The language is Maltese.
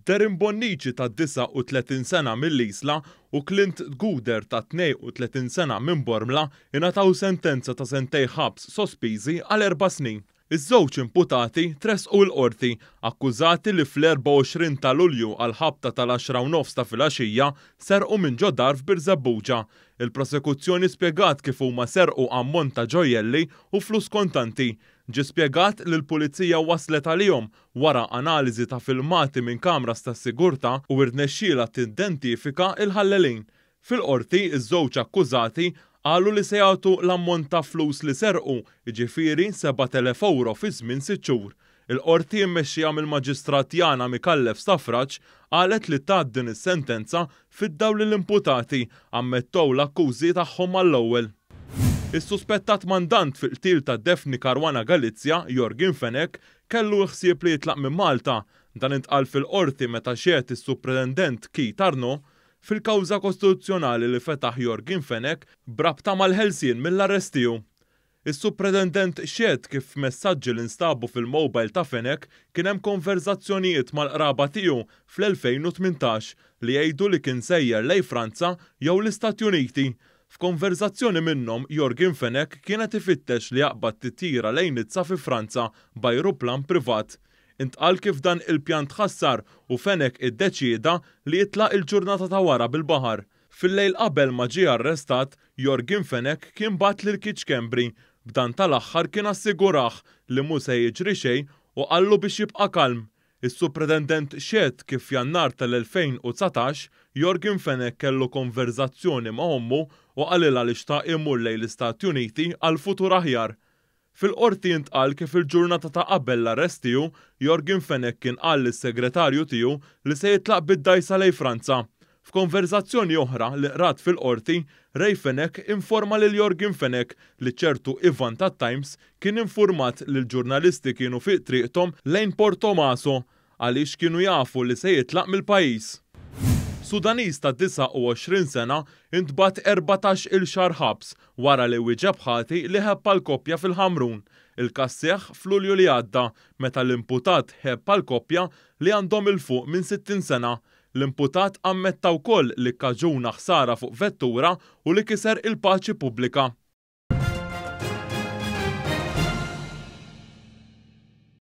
Darren Bonnici ta' 39 sena mill-Isla u Clint Guder ta' 32 sena minn Bormla ingħataw sentenza ta' sentejn ħabs sospiżi għal erba' snin. Iż-żewġ imputati tressqu l-Qorti akkużati li fl-24 ta' Lulju għall-ħabta tal-għaxra u nofs ta' filgħaxija serqu minn ġo dar f'Birżebbuġa. Il-Prosekuzzjoni spjegat kif huma serqu ammont ta' ġojjelli u flus kontanti. Ġie spjegat li l-Pulizija waslet għalihom wara analiżi ta' filmati minn kameras tas-sigurtà u irnexxielha tiddentifika l-ħallelin. Fil-Qorti, iż-żewġ akkużati qalu li se jagħtu l-ammont ta' flus li serqu, jiġifieri 7,000 ewro fi żmien sitt xhur. Il-Qorti mmexxija mill-Maġistrat Yana Micallef Stafrace qalet li tat din is-sentenza fid-dawl li l-imputati ammettow l-akkużi tagħhom mal-ewwel. Is-suspettat mandant fil-qtil ta' Daphne Caruana Galizia, Yorgen Fenech, kellu l-ħsieb li jitlaq minn Malta. Dan intqal fil-Qorti meta xehed is-Supretendent Keith Arnaud fil-kawża kostituzzjonali li fetaħ Yorgen Fenech b'rabta mal-ħelsien mill-arrest tiegħu. Is-Supretendent xehed kif f'messaġġi li nstabu fil-mobile ta' Fenech kien hemm konverżazzjonijiet mal-qraba tiegħu fl-2018 li jgħidu li kien sejjer lejn Franza jew l-Istati Uniti. F'konverżazzjoni minnhom Yorgen Fenech kien qed ifittex li jaqbad titjira lejn Nizza fi Franza b'ajruplan privat. Intqal kif dan il-pjan tħassar u Fenech iddeċieda li jitlaq il-ġurnata ta' wara bil-baħar. Fil-lejl qabel ma ġie arrestat, Yorgen Fenech kien bagħat lil Keith Schembri, b'dan tal-aħħar kien assigurah li mhu se jiġri xejn u qallu biex jibqa' kalm. Is-Supretendent xehed kif f'Jannar tal-2019, Yorgen Fenech kellu konverżazzjoni ma' ommu u qalilha li xtaq imur lejn l-Istati Uniti għal futur aħjar. Fil-Qorti intqal kif il-ġurnata ta' qabel l-arrest tiegħu, Yorgen Fenech kien qal lis-segretarju tiegħu li se jitlaq bid-dgħajsa lejn Franza. F'konverżazzjoni oħra li qrat fil-Qorti, Ray Fenech informa lil Yorgen Fenech li ċertu Ivan tat-Times kien infurmat li l-ġurnalisti kienu fi triqthom lejn Portomaso għaliex kienu jafu li se jitlaq mill-pajjiż. Sudaniż ta' 29 sena ntbagħat 14 il xahar ħabs wara li wieġeb ħati li ħebb għal koppja fil-Ħamrun. Il-każ seħħ f'Lulju li għadda meta l-imputat ħebb għal koppja li għandhom 'il fuq minn 60 sena. L-imputat ammetta wkoll li kkaġuna ħsara fuq vettura u li kiser il-paċi pubblika.